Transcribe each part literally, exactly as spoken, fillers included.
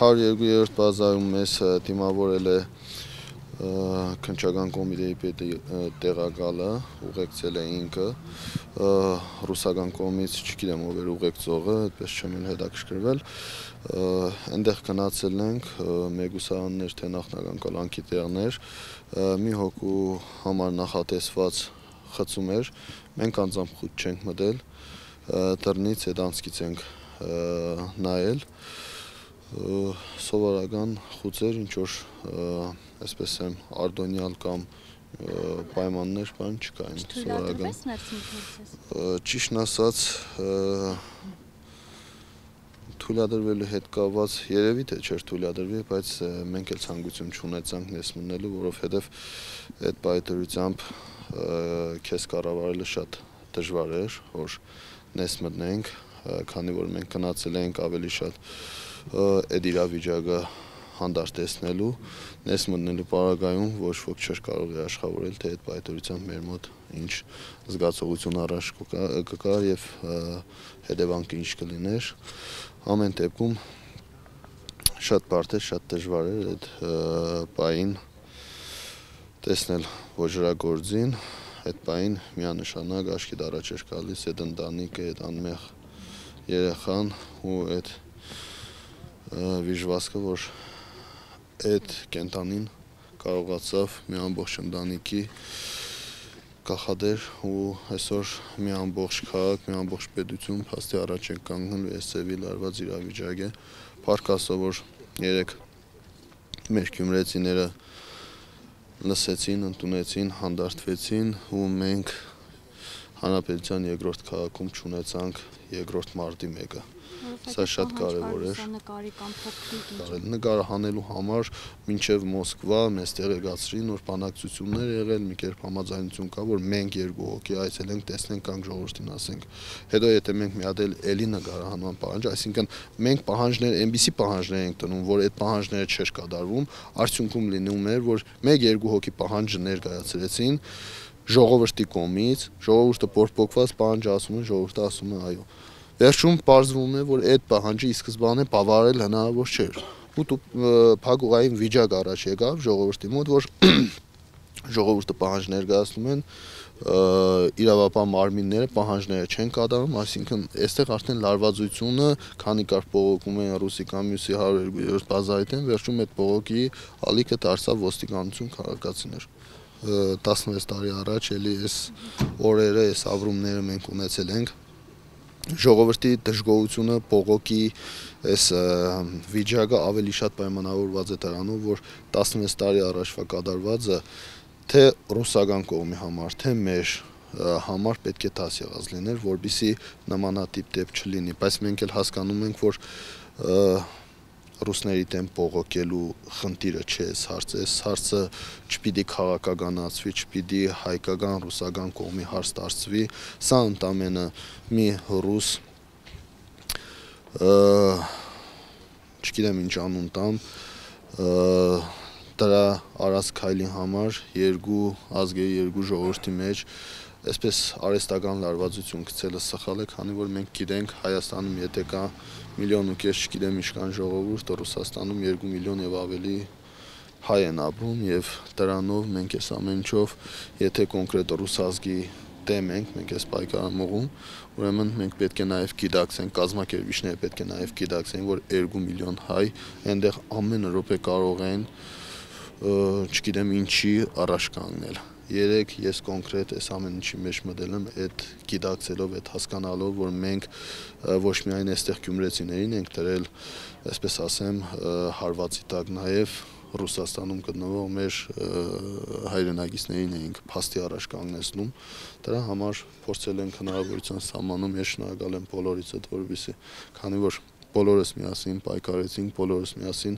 հարյուր երկու բազայում մեզ դիմավորել է քննչական կոմիտեի պետի տեղակալը, ուղեկցել է ինքը, ռուսական կողմից չգիտեմ ով էր ուղեկցողը, այդպես չեմ էլ հետաքրքրվել, այնտեղ գնացել ենք, մեկուսարաններ, թե նախնական կալանքի տեղներ, մի հոգու համար նախատեսված խցում էր, մենք անձամբ խուտ չենք մտել, դռնից հետ անցքից ենք նայել, սովորական խուցեր, ինչ-որ այսպես եմ արդոնյալ կամ պայմաններ բան չկային, սովորական, ճիշտն ասած, թույլատրվելու հետ կապված երևի թե չէր թույլատրվի, բայց մենք էլ ցանկություն չունեցանք ներս մտնելու, որովհետև այդ պայթրությամբ քեզ կառավարելը շատ դժվար էր, որ ներս մտնենք, քանի որ մենք գնացել ենք ավելի շատ այդ իրավիճակը հանդարտ տեսնելու, ներս մտնելու պարագայում ոչ ոք չէր կարող է աշխատավորել, թե այդ պայթրությամբ մեր մոտ ինչ զգացողություն առաջ կգա եւ հետևանքը ինչ կլիներ, ամեն դեպքում շատ բարդ էր, շատ դժվար էր այդ պահին տեսնել ոճրագործին, այդ պահին միանշանակ աչքիդ առաջ էր գալիս այդ ընտանիքը, այդ անմեղ երեխան ու այդ վիժվածքը, որ այդ կենտանին կարողացավ մի ամբողջ ընտանիքի կախադեր ու այսօր մի ամբողջ քաղաք, մի ամբողջ պետություն փաստի առաջ է կանգնել այս ծևի լարված իրավիճակ է, փառք Աստծո, որ երեք մեր գյումրեցիները լսեցին, ընդունեցին, հանդարտվեցին ու մենք հանրապետության երկրորդ քաղաքում չունեցանք երկրորդ մարտի մեկը, սա շատ կարևոր էր, նկարը հանելու համար մինչև Մոսկվա մեզ տեղեկացրին, որ բանակցություններ եղել, մի կերպ համաձայնություն կա, որ մենք երկու հոգի այցելենք, տեսնենք, կանք ժողովրդին ասենք, հետո եթե մենք մի հատ էլի նկարահանման պահանջ, այսինքն մենք պահանջներ, այնպիսի պահանջներ ենք տնում, որ այդ պահանջները չէր կատարվում, արդյունքում լինում էր, որ մեկ երկու հոգի պահանջը ներկայացրեցին ժողովրդի կողմից, ժողովուրդը բորբոքված պահանջը ասում է, ժողովուրդը ասում է այո, վերջում պարզվում է, որ այդ պահանջը ի սկզբանե բավարարել հնարավոր չէր, ու փակուղային վիճակ առաջ եկավ ժողովրդի մոտ, որ ժողովուրդը պահանջ ներկայացնում են, իրավապահ մարմինները պահանջները չեն կատարում, այսինքն այստեղ արդեն լարվածությունը, քանի կարգ բողոքում են ռուսի կամ մյուսի հարյուր երկու բազայի դեմ, վերջում այդ բողոքի ալիքը դարձավ ոստիկանություն, քաղաքացիներ, տասնվեց տարի առաջ էլի այս օրերը, այս ապրումները մենք ունեցել ենք, ժողովրդի դժգոհությունը, բողոքի այս վիճակը ավելի շատ պայմանավորված է դրանով, որ տասնվեց տարի առաջվա կատարվածը թե ռուսական կողմի համար, թե մեր համար պետք է դաս եղած լիներ, որպեսզի նմանատիպ դեպք չլինի, բայց մենք էլ հասկանում ենք, որ ռուսների դեմ բողոքելու խնդիրը չէ այս հարցը, այս հարցը չպիտի քաղաքականացվի, չպիտի հայկական, ռուսական կողմի հարց դարձվի, սա ընդամենը մի ռուս, չգիտեմ ինչ անուն տամ, դրա արած քայլի համար երկու ազգերի, երկու ժողովրդի մեջ այսպես արհեստական լարվածություն գցելը սխալ է, քանի որ մենք գիտենք Հայաստանում եթե կա միլիոն ու կես չգիտեմ ինչքան ժողովուրդ, Ռուսաստանում երկու միլիոն եւ ավելի հայ են ապրում եւ դրանով մենք այս ամեն ինչով եթե կոնկրետ ռուս ազգի դեմ ենք, մենք այս պայքարը մղում, ուրեմն մենք պետք է նաեւ գիտակցենք, կազմակերպիչները պետք է նաեւ գիտակցեն, որ երկու միլիոն հայ այնտեղ ամեն րոպե կարող են չգիտեմ ինչի առաջ կանգնել Երեք ես կոնկրետ այս ամեն ինչի մեջ մտել եմ այդ գիտակցելով, այդ հասկանալով, որ մենք ոչ միայն այստեղ գյումրեցիներին ենք դրել, այսպես ասեմ, հարվածի տակ նաև Ռուսաստանում գտնվող մեր հայրենակիցներին էինք փաստի առաջ կանգնեցնում, դրա համար փորձել ենք հնարավորության սահմանում, ես շնորհակալ եմ բոլորիցդ, որովհետեւ քանի որ բոլորս միասին պայքարեցինք, բոլորս միասին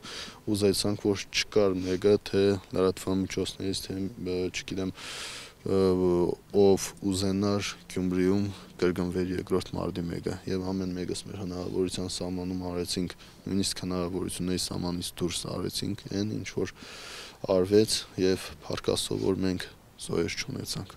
ուզեցանք, որ չկար մեկը, թե լրատվամիջոցներից, թե չգիտեմ, ով ուզենար Գյումրիում կրկնվեր երկրորդ մարտի մեկը, եւ ամեն մեկս մեր հնարավորության սահմանում արեցինք, նույնիսկ հնարավորությունների սահմանից դուրս արեցինք այն, ինչ որ արվեց, եւ փառք Աստծո, որ մենք զոհեր չունեցանք։